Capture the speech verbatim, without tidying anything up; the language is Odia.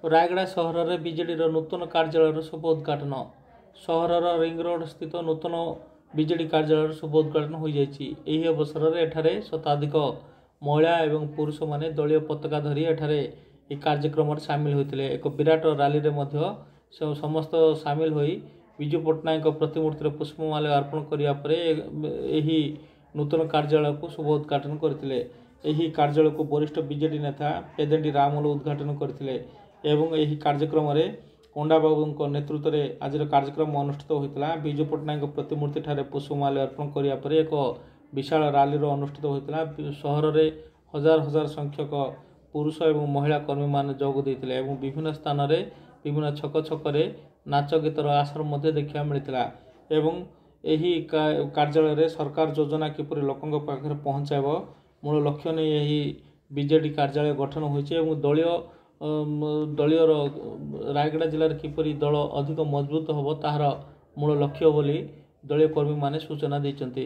ରାୟଗଡ଼ା ସହରରେ ବିଜେଡ଼ିର ନୂତନ କାର୍ଯ୍ୟାଳୟର ଶୁଭ ଉଦ୍ଘାଟନ। ସହରର ରିଙ୍ଗ ରୋଡ୍ ସ୍ଥିତ ନୂତନ ବିଜେଡି କାର୍ଯ୍ୟାଳୟର ଶୁଭ ଉଦ୍ଘାଟନ ହୋଇଯାଇଛି। ଏହି ଅବସରରେ ଏଠାରେ ଶତାଧିକ ମହିଳା ଏବଂ ପୁରୁଷମାନେ ଦଳୀୟ ପତାକା ଧରି ଏଠାରେ ଏହି କାର୍ଯ୍ୟକ୍ରମରେ ସାମିଲ ହୋଇଥିଲେ। ଏକ ବିରାଟ ରାଲିରେ ମଧ୍ୟ ସମସ୍ତ ସାମିଲ ହୋଇ ବିଜୁ ପଟ୍ଟନାୟକଙ୍କ ପ୍ରତିମୂର୍ତ୍ତିରେ ପୁଷ୍ପମାଲ୍ୟ ଅର୍ପଣ କରିବା ପରେ ଏହି ନୂତନ କାର୍ଯ୍ୟାଳୟକୁ ଶୁଭ ଉଦ୍ଘାଟନ କରିଥିଲେ। ଏହି କାର୍ଯ୍ୟାଳୟକୁ ବରିଷ୍ଠ ବିଜେଡି ନେତା ପେଦେଣ୍ଡି ରାମୁଲୁ ଉଦ୍ଘାଟନ କରିଥିଲେ ଏବଂ ଏହି କାର୍ଯ୍ୟକ୍ରମରେ ପଣ୍ଡାବାବୁଙ୍କ ନେତୃତ୍ୱରେ ଆଜିର କାର୍ଯ୍ୟକ୍ରମ ଅନୁଷ୍ଠିତ ହୋଇଥିଲା। ବିଜୁ ପଟ୍ଟନାୟକଙ୍କ ପ୍ରତିମୂର୍ତ୍ତିଠାରେ ପୁଷ୍ପମାଲ୍ୟ ଅର୍ପଣ କରିବା ପରେ ଏକ ବିଶାଳ ରାଲିର ଅନୁଷ୍ଠିତ ହୋଇଥିଲା। ସହରରେ ହଜାର ହଜାର ସଂଖ୍ୟକ ପୁରୁଷ ଏବଂ ମହିଳା କର୍ମୀମାନେ ଯୋଗ ଦେଇଥିଲେ ଏବଂ ବିଭିନ୍ନ ସ୍ଥାନରେ ବିଭିନ୍ନ ଛକ ଛକରେ ନାଚ ଗୀତର ଆସର ମଧ୍ୟ ଦେଖିବାକୁ ମିଳିଥିଲା। ଏବଂ ଏହି କାର୍ଯ୍ୟାଳୟରେ ସରକାର ଯୋଜନା କିପରି ଲୋକଙ୍କ ପାଖରେ ପହଞ୍ଚାଇବ ମୂଳ ଲକ୍ଷ୍ୟ ନେଇ ଏହି ବିଜେଡି କାର୍ଯ୍ୟାଳୟ ଗଠନ ହୋଇଛି ଏବଂ ଦଳୀୟ ଦଳୀୟର ରାୟଗଡ଼ା ଜିଲ୍ଲାରେ କିପରି ଦଳ ଅଧିକ ମଜବୁତ ହେବ ତାହାର ମୂଳ ଲକ୍ଷ୍ୟ ବୋଲି ଦଳୀୟ କର୍ମୀମାନେ ସୂଚନା ଦେଇଛନ୍ତି।